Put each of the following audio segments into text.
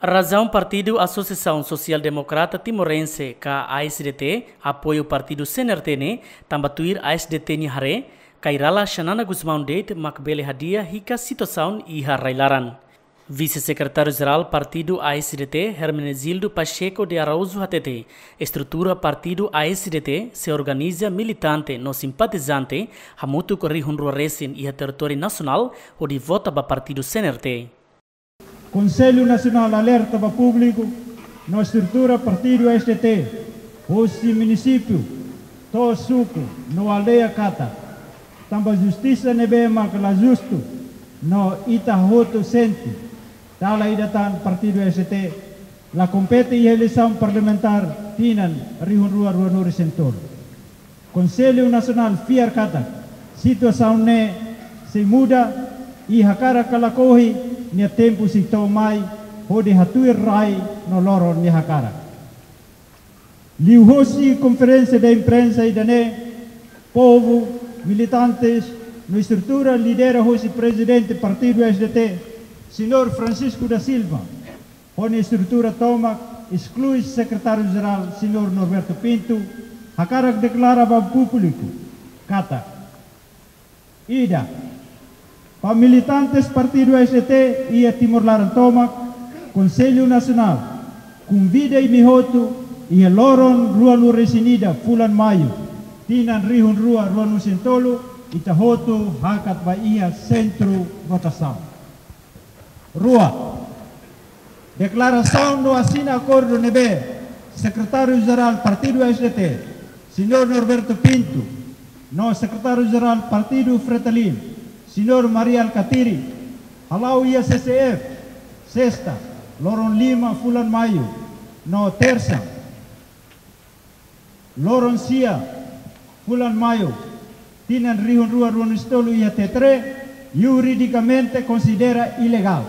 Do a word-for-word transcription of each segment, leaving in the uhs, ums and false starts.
Razaun Partidu Asosiasaun Sosiál Demokrata Timorense ka A S D T apoiu Partidu C N R T ne'e tanba tuir A S D T nia haree, Kay Rala Xanana Gusmão de'it mak bele hadi'a hikas situasaun iha rai-laran. Vise-Sekretáriu-Jerál Partidu A S D T, Hermenegildo Pacheco de Araújo hatete, estrutura Partidu A S D T sei organiza militante no simpatizante hamutuk rihun rua resin iha territóriu nasionál hodi vota ba Partidu C N R T. Konsellu Nasionál alerta ba públiku no estrutura Partidu A S D T, hosi munisípiu to'o suku no aldeia katak, tanba justisa ne'ebé mak la justu no ita hotu sente, dala ida tan Partidu A S D T la kompete iha eleisaun parlamentár tinan rihun rua ruanulu resin tolu. Konsellu Nasionál fiar katak situasaun ne'e sei muda, i hakarak ka lakohi, nia tempu sei to'o mai hodi hatuir rai no loron nia hakarak. Liuhosi konferénsia de imprensa ida-ne'e, povu, militantes no estrutura lidera hosi Prezidente Partidu A S D T, Señór Francisco da Silva, ho nia estrutura tomak, esklui Sekretáriu-Jerál, Señór Norberto Pinto, hakarak deklara ba públiku katak: ida, ba militantes Partidu A S D T iha Timor laran tomak, Konsellu Nasionál konvida imi hotu, iha loron ruanulu resin ida fulan Maiu, tinan rihun rua ruanulu resin tolu, ita hotu hakat ba iha sentru votasaun. Rua, deklarasaun no asina akordu ne'ebé Sekretáriu-Jerál Partidu A S D T, Señór Norberto Pinto, no Sekretáriu-Jerál Partidu Fretilin, Señór Mari Alkatiri, hala'o iha C C F, sesta, loron lima fulan Maiu, no tersa, loron sia fulan Maiu, tinan rihun rua ruanulu resin tolu iha Tetre, juridikamente konsidera ilegál.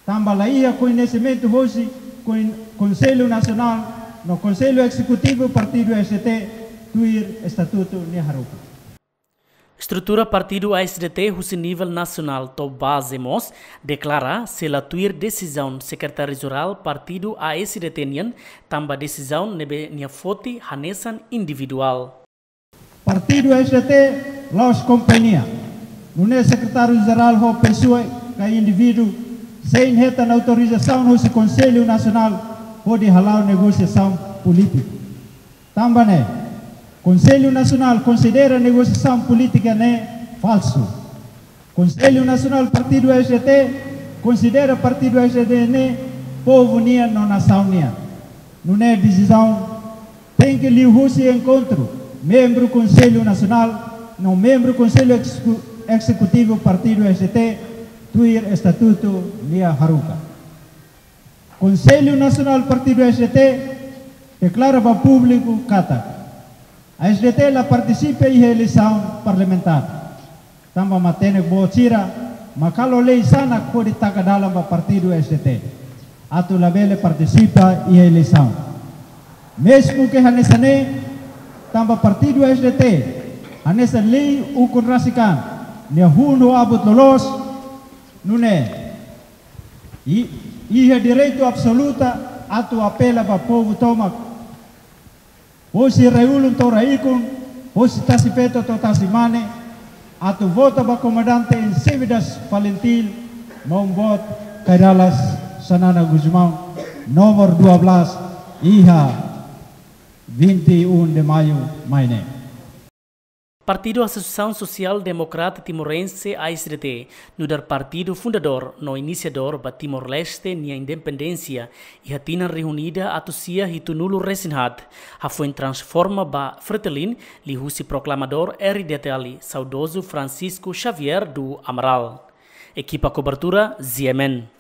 Tanba la iha koñesimentu hosi Kon-, Konsellu Nasionál no Konsellu Ezekutivu Partidu A S D T tuir estatutu nia haruka. Estrutura Partidu A S D T husi nivel nasionál to'o baze mós deklara, se la tuir desizaun Sekretáriu-Jerál Partidu A S D T nian, tanba desizaun ne'ebé nia foti hanesan individuál. Partidu A S D T la'ós kompañia. Nune'e Sekretáriu-Jerál ho pesoa ka indivíduu sein hetan autorizasaun hosi Konsellu Nasionál hodi hala'o negosiasaun polítika. Tanba ne'e, Konsellu Nasionál konsidera negosiasaun polítika ne'e falsu. Konsellu Nasionál Partidu A S D T konsidera Partidu A S D T ne'e povu nian no nasaun nian. Nune'e desizaun tenke liuhusi enkontru membru Konsellu Nasionál no membru Konsellu Execu-, Ezekutivu Partidu A S D T tuir estatutu nia haruka. Konsellu Nasionál Partidu A S D T deklara ba públiku katak A S D T la partisipa iha eleisaun parlamentár. Tanba matenek boot sira mak halo lei sanak hodi taka dalan ba Partidu A S D T atu labele partisipa iha eleisaun. Mezmu ke hanesan ne'e, tanba Partidu A S D T hanesan lei ukun rasik an nia hun ho abut loloos, nune'e i-, iha direitu absoluta atu apela ba povu tomak, hosi rai-ulun to'o rai-ikun, hosi tasi-feto to'o tasi-mane, atu vota ba komandante em serviço do Falintil, maun boot Kay Rala Xanana Gusmão, númeru dua belas, iha vinte e um de maio mai ne'e. Partidu Asosiasaun Sosiál Demokrata Timorense, A S D T, nu'udar partidu fundadór no inisiadór ba Timor-Leste nia independénsia iha tinan rihun ida atus sia hitunulu resin haat, hafoin transforma ba Fretilin liuhusi proklamadór R D T L, saudozu Francisco Xavier do Amaral. Ekipa kobertura, Z M N.